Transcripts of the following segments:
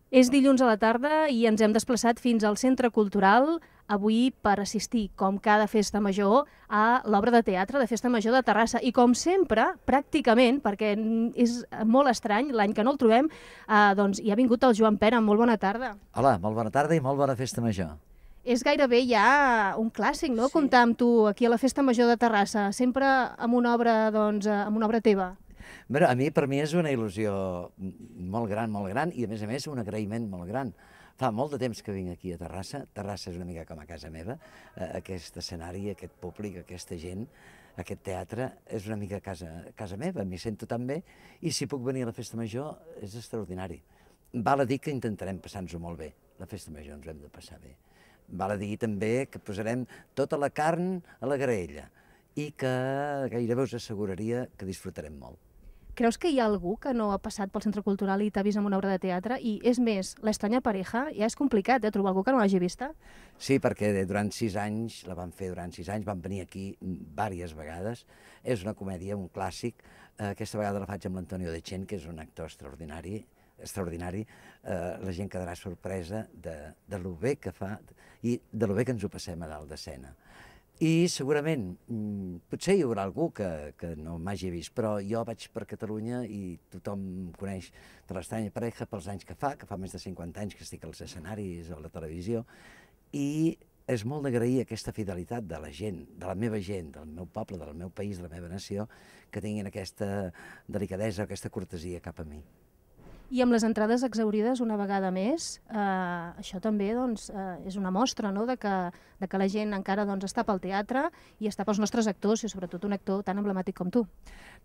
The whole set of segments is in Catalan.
És dilluns a la tarda i ens hem desplaçat fins al Centre Cultural, avui per assistir, com cada festa major, a l'obra de teatre de Festa Major de Terrassa. I com sempre, pràcticament, perquè és molt estrany, l'any que no el trobem, doncs hi ha vingut el Joan Pera. Molt bona tarda. Hola, molt bona tarda i molt bona festa major. És gairebé ja un clàssic, no?, comptar amb tu aquí a la Festa Major de Terrassa, sempre amb una obra, doncs, amb una obra teva. Bé, per mi és una il·lusió molt gran, i a més un agraïment molt gran. Fa molt de temps que vinc aquí a Terrassa. Terrassa és una mica com a casa meva. Aquest escenari, aquest públic, aquesta gent, aquest teatre és una mica casa meva, m'hi sento tan bé, i si puc venir a la festa major és extraordinari. Val a dir que intentarem passar-nos-ho molt bé. La festa major ens ho hem de passar bé. Val a dir també que posarem tota la carn a la graella i que gairebé us asseguraria que disfrutarem molt. Creus que hi ha algú que no ha passat pel Centre Cultural i t'ha vist en una obra de teatre? I és més, l'estranya pareja, ja és complicat, trobar algú que no l'hagi vista? Sí, perquè durant 6 anys, la vam fer durant 6 anys, vam venir aquí diverses vegades. És una comèdia, un clàssic. Aquesta vegada la faig amb l'Antonio Dechent, que és un actor extraordinari. La gent quedarà sorpresa de lo bé que fa i de lo bé que ens ho passem a dalt d'escena. I segurament, potser hi haurà algú que no m'hagi vist, però jo vaig per Catalunya i tothom em coneix de l'estranya pareja pels anys que fa més de 50 anys que estic als escenaris o a la televisió, i és molt d'agrair aquesta fidelitat de la gent, de la meva gent, del meu poble, del meu país, de la meva nació, que tinguin aquesta delicadesa, aquesta cortesia cap a mi. I amb les entrades exaurides una vegada més, això també doncs, és una mostra, no?, de que la gent encara doncs, està pel teatre i està pels nostres actors, i sobretot un actor tan emblemàtic com tu.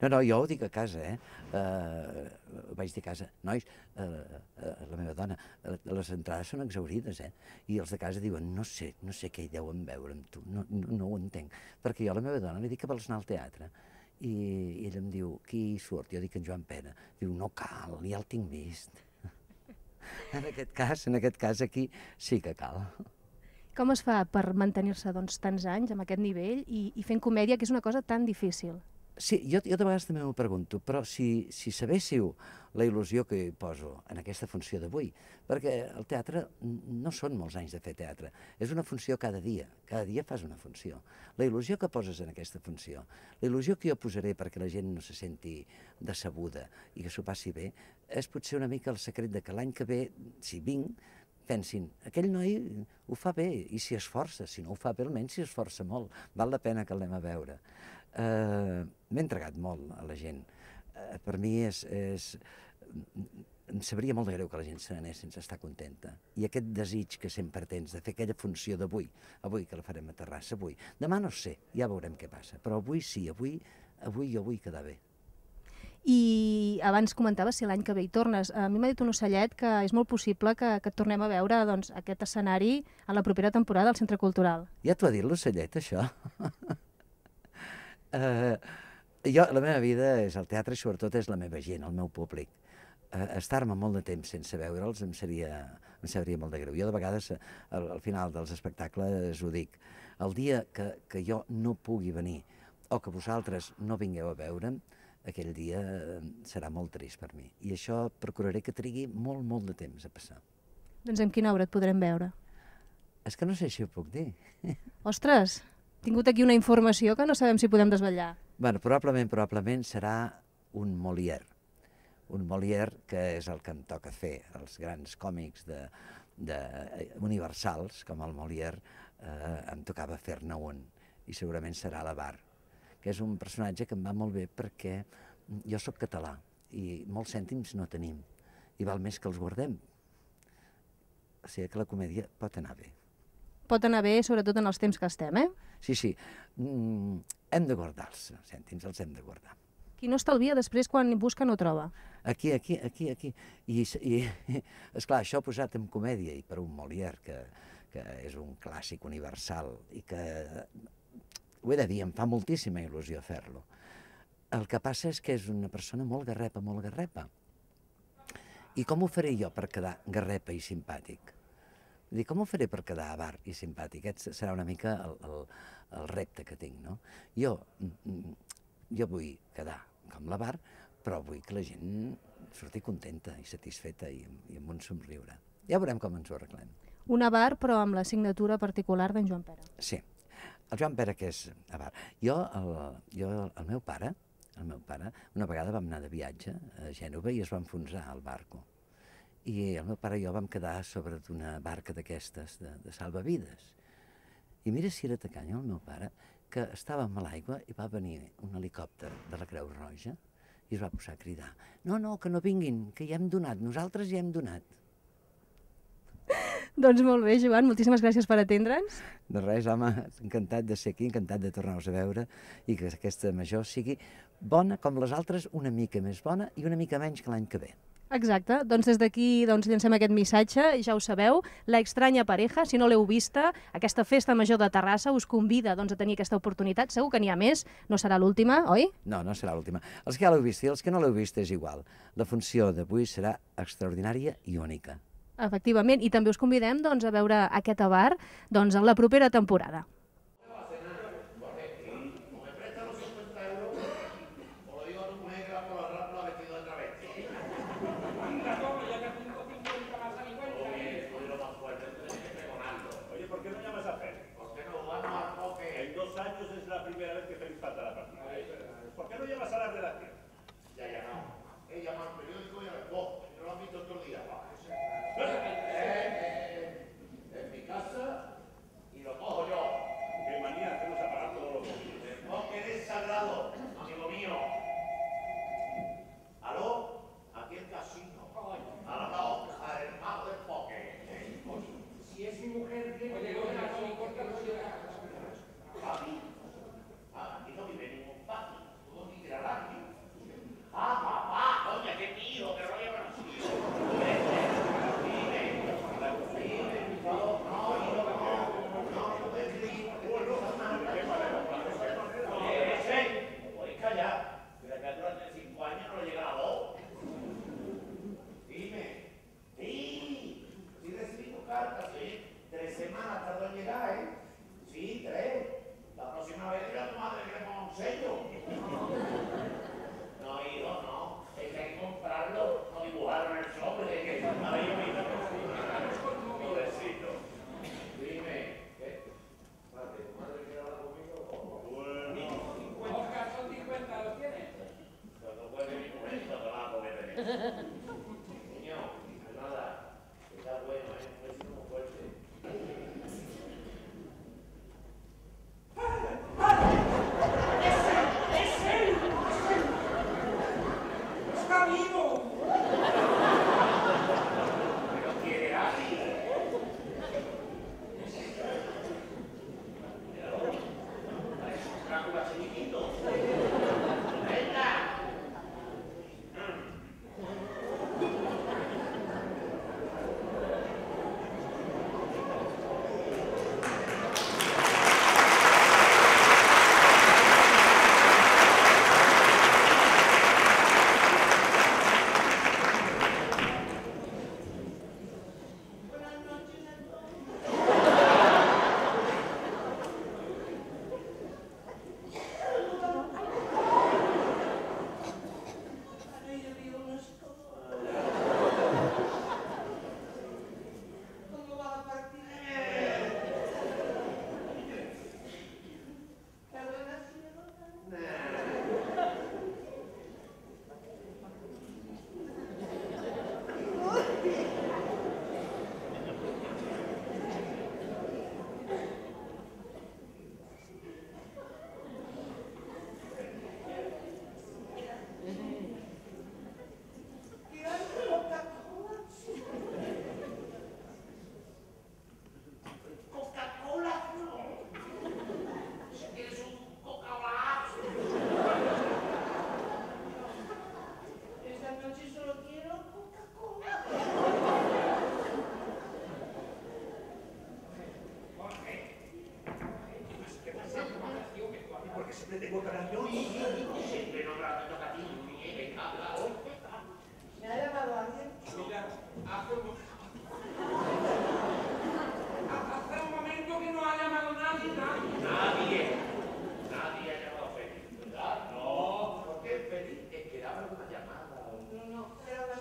No, jo ho dic a casa, vaig dir a casa, nois, la meva dona, les entrades són exaurides, i els de casa diuen, no sé què hi deuen veure amb tu, no ho entenc, perquè jo a la meva dona li dic que vols anar al teatre, i ella em diu, qui hi surt? Jo dic en Joan Pera. Diu, no cal, ja el tinc vist. En aquest cas aquí sí que cal. Com es fa per mantenir-se doncs, tants anys amb aquest nivell i fent comèdia, que és una cosa tan difícil? Sí, jo de vegades també m'ho pregunto, però si sabéssiu la il·lusió que hi poso en aquesta funció d'avui, perquè el teatre no són molts anys de fer teatre, és una funció cada dia fas una funció. La il·lusió que poses en aquesta funció, la il·lusió que jo posaré perquè la gent no se senti decebuda i que s'ho passi bé, és potser una mica el secret de que l'any que ve, si vinc, pensin, aquell noi ho fa bé i s'hi esforça, si no ho fa bé almenys s'hi esforça molt, val la pena que l'anem a veure. M'he entregat molt a la gent. Per mi em sabria molt de greu que la gent se n'anés sense estar contenta. I aquest desig que sempre tens de fer aquella funció d'avui, avui que la farem a Terrassa, avui. Demà no sé, ja veurem què passa, però avui sí, avui jo vull quedar bé. I abans comentaves si l'any que ve hi tornes. A mi m'ha dit un ocellet que és molt possible que et tornem a veure doncs, aquest escenari a la propera temporada al Centre Cultural. Ja t'ho ha dit l'ocellet, això? La meva vida és el teatre i sobretot és la meva gent, el meu públic. Estar-me molt de temps sense veure'ls em sabria molt de greu. Jo de vegades al final dels espectacles ho dic. El dia que jo no pugui venir o que vosaltres no vingueu a veure'm, aquell dia serà molt trist per mi. I això procuraré que trigui molt de temps a passar. Doncs en quina obra et podrem veure? És que no sé si ho puc dir. Ostres, he tingut aquí una informació que no sabem si podem desvetllar. Bueno, probablement serà un Molière. Un Molière que és el que em toca fer. Els grans còmics universals, com el Molière, em tocava fer-ne un. I segurament serà l'Avar, que és un personatge que em va molt bé perquè jo sóc català i molts cèntims no tenim. I val més que els guardem. O sigui que la comèdia pot anar bé. Pot anar bé, sobretot en els temps que estem, Sí. Hem de guardar els cèntims, els hem de guardar. Qui no estalvia després quan busca no troba. Aquí. I esclar, això posat en comèdia i per un Molière, que és un clàssic universal i que, ho he de dir, em fa moltíssima il·lusió fer-lo. El que passa és que és una persona molt garrepa. I com ho faré jo per quedar garrepa i simpàtic? Com ho faré per quedar avar i simpàtic? Aquest serà una mica el repte que tinc, no? Jo vull quedar com l'avar, però vull que la gent sortir contenta i satisfeta i amb un somriure. Ja veurem com ens ho arreglem. Un avar, però amb la signatura particular d'en Joan Pere. Sí, el Joan Pere, que és avar. El meu pare, una vegada vam anar de viatge a Gènova i es va enfonsar el barco. I el meu pare i jo vam quedar sobre d'una barca d'aquestes, de salvavides. I mira si era tacanya el meu pare, que estàvem a l'aigua i va venir un helicòpter de la Creu Roja i es va posar a cridar: no, que no vinguin, que ja hem donat, nosaltres ja hem donat. Doncs molt bé, Joan, moltíssimes gràcies per atendre'ns. De res, home, encantat de ser aquí, encantat de tornar-vos a veure i que aquesta major sigui bona com les altres, una mica més bona i una mica menys que l'any que ve. Exacte, doncs des d'aquí llancem aquest missatge, ja ho sabeu, La Extraña Pareja, si no l'heu vista, aquesta festa major de Terrassa us convida a tenir aquesta oportunitat, segur que n'hi ha més, no serà l'última, oi? No, no serà l'última. Els que ja l'heu vist i els que no l'heu vist és igual. La funció d'avui serà extraordinària i única. Efectivament, i també us convidem a veure aquest avar en la propera temporada. Pero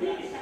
Thank you.